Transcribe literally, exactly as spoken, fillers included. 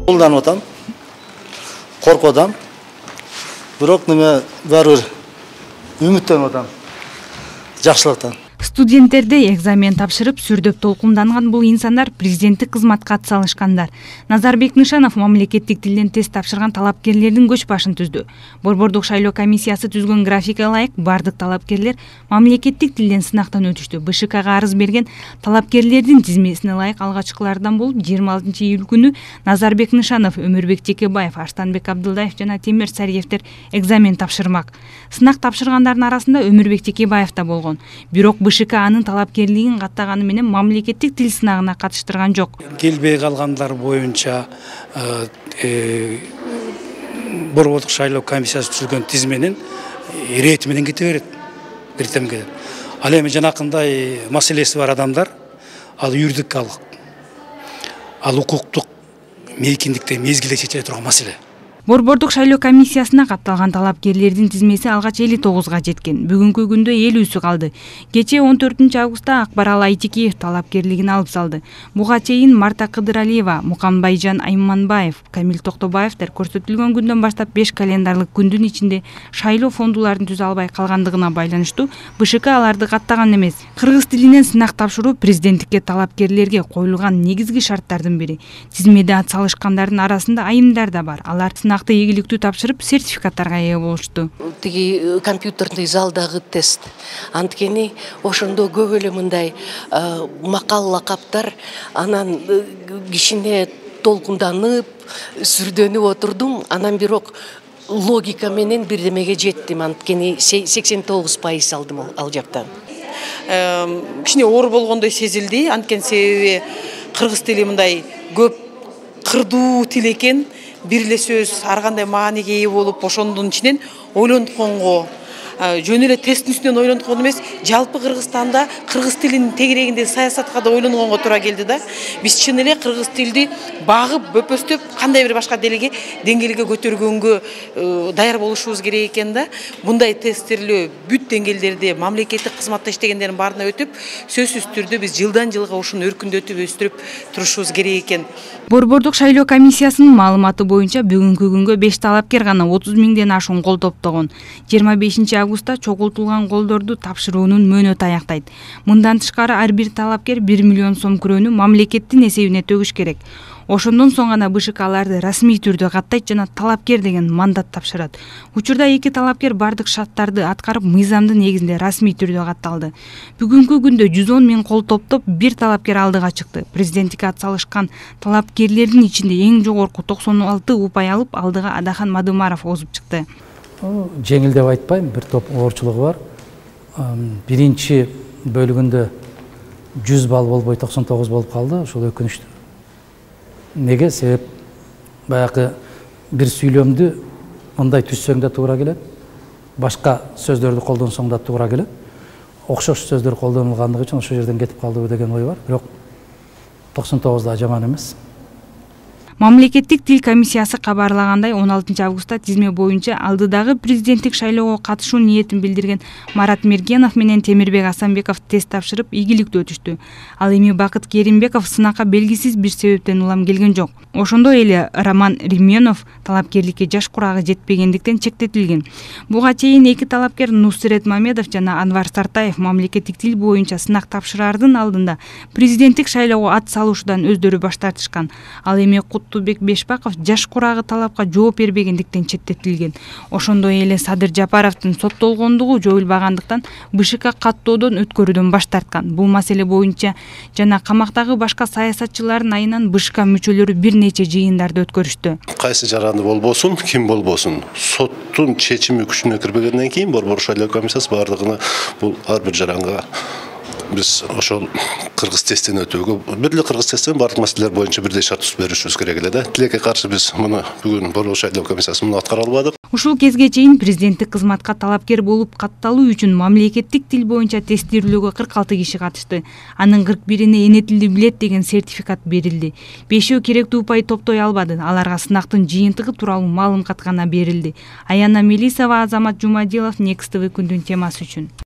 Колданып атам, коркуп атам. Бирок неме баары бир үмүттөнүп атам. Жакшылыктан. Студенттерде экзамен тапшырып, сүрдөп толкунданган бул инсандар президенттик кызматка атсалышкандар. Назарбек Нышанов мамлекеттик тилден тест тапшырган талапкерлердин көч башын түздү. Борбордук шайлоо комиссиясы түзгөн графикке ылайык бардык талапкерлер мамлекеттик тилден сынактан өтүштү. БШКга арыз берген талапкерлердин тизмесине ылайык алгачкылардан болуп жыйырма алтынчы июль күнү Назарбек Нышанов, Өмүрбек Текебаев, Арстанбек Абдылдаев жана Темир Сариевдер экзамен тапшырмак. Сынак тапшыргандардын арасында Өмүрбек Текебаев да болгон. Бирок БШК анын талапкерлигин каттаганы менен мамлекеттик тил сынагына катыштырган жок. Келбей калгандар боюнча борбордук шайлоо комиссиясы түзүлгөн тизменин ирети менен кете берет. Биртем кетет. Ал эми жанакындай маселеси бар адамдар ал юридикалык, ал укуктук мейкиндикте мезгилде чечиле турган маселе. Борбордук шайлоо комиссиясына катталган талапкерлердин тизмеси алгач элүү тогузга жеткен. Бүгүнкү күндө элүүсү калды. Кечээ он төртүнчү августта Акбарал Айтикеев талапкерлигин алып салды. Буга чейин Марта Кыдыралиева, Муканбайжан Айманбаев, Камил Токтобаевдер көрсөтүлгөн күндөн баштап беш календарлык күндүн ичинде шайлоо фондуларын түзө албай калгандыгына байланыштуу БШК аларды каттаган эмес. Кыргыз тилинен сынак тапшыруу президенттикке талапкерлерге коюлган негизги шарттардын бири. Тизмеде атсалышкандардын арасында айымдар да бар. Алар сынакты ийгиликтүү тапшырып, сертификаттарга ээ болушту. Тиги компьютерный залдагы тест. Анткени ошондо көп эле мындай макал лакаптар, анан кичине толкунданып, сүрдөнүп отурдум. Анан бирок логика менен бирдемеге жеттим. Анткени сексен тогуз пайыз алдым ал жактан. Кичине оор болгондой сезилди. Анткени себеби кыргыз тили мындай көп кырдуу тил экен. Бир эле сөз ар кандай мааниге ээ болуп, ошондун ичинен ойлонтконго, жөн эле тесттин үстүнөн ойлонткон эмес, жалпы Кыргызстанда кыргыз тилинин тегерегинде саясатка да ойлонгонго туура келди да. Биз чын эле кыргыз тилди багып, бөпөстөп, кандай бир башка делеге деңгээлге көтөргөнгө даяр болушубуз керек экен да. Мындай тесттерлөө бүт деңгээлдерде мамлекеттик кызматта иштегендердин баарына өтүп, сөзсүз түрдө биз жылдан жылга ушуну өркүндөтүп, өстүрүп турушубуз керек экен. Борбордук шайлоо комиссиясынын маалыматы боюнча бүгүнкү күнгө беш талапкер гана отуз миңден ашуун кол топтогон. жыйырма бешинчи августта чогултулган колдорду тапшыруунун мөөнөтү аяктайт. Мындан тышкары ар бир талапкер бир миллион сом күрөөнү мамлекеттин эсебине төгүш керек. Ошондон соң гана БШКларды расмий түрдө каттайт жана талапкер деген мандат тапшырат. Учурда эки талапкер бардык шарттарды аткарып, мыйзамдын негизинде расмий түрдө катталды. Бүгүнкү күндө жүз он миң кол топтоп бир талапкер алдыга чыкты. Президенттикке атсалышкан талапкерлердин ичинде эң жогорку токсон алты упай алып, алдыга Адахан Мадымаров озуп чыкты. Жеңил деп айтпайм, бир топ оорчулугу бар. Биринчи бөлүгүндө жүз балл болбой токсон тогуз болуп калды. Ошол өкүнүчтүү. Неге? Себеп баягы бир сүйлөмдү мындай түзсөң да туура келет, башка сөздөрдү колдонсоң да туура келет. Окшош сөздөр колдонулгандыгы үчүн ошол жерден кетип калдыбы деген ой бар. Бирок токсон тогуз да жаман эмес. Мамлекеттик тил комиссиясы кабарлагандай, он алтынчы августта тизме боюнча алдыдагы президенттик шайлоого катышуу ниетин билдирген Марат Мергенов менен Темирбек Асанбеков тест тапшырып, ийгиликтүү өтүштү. Ал эми Бакыт Керимбеков сынакка белгисиз бир себептен улам келген жок. Ошондой эле Роман Рименов талапкерликке жаш курагы жетпегендиктен чектетилген. Буга чейин эки талапкер Нусрет Мамедов жана Анвар Сартаев мамлекеттик тил боюнча сынак тапшырардын алдында президенттик шайлоого ат салуушудан өздөрү баш тартышкан. Ал эми Куттубек Бешбаков жаш курагы талапка жооп бербегендиктен четтетилген. Ошондой эле Садыр Жапаровдун соттолгондугу жоюлбагандыктан БШК каттоодон өткөрүүдөн баш тарткан. Бул маселе боюнча жана камактагы башка саясатчылардын айынан БШК мүчөлөрү бир нече жыйындарды өткөрүштү. Кайсы жаранды болбосун, ким болбосун, соттун чечими күчүнө кирбегенден кийин Борбордук шайлоо комиссиясы бардыгына бул ар бир жаранга биз ошол кыргыз тесттен өтүүгө, бир эле кыргыз тесттен бардык маселелер боюнча бирдей шарт түзүп беришибиз керек эле да. Тилекке каршы биз муну бүгүн Борбордук шайлоо комиссиясы муну аткара албадык. Ушул кезге чейин президенттик кызматка талапкер болуп катталуу үчүн мамлекеттик тил боюнча тестирүүлөөгө кырк алты киши катышты. Анын кырк бирине эне тилди билет деген сертификат берилди. Бешөө керектүү упай топтой албады. Аларга сынактын жыйынтыгы тууралуу маалымат гана берилди. Аяна Мелисова, Азамат Жумадилов, Next тэ вэ күндүн темасы үчүн.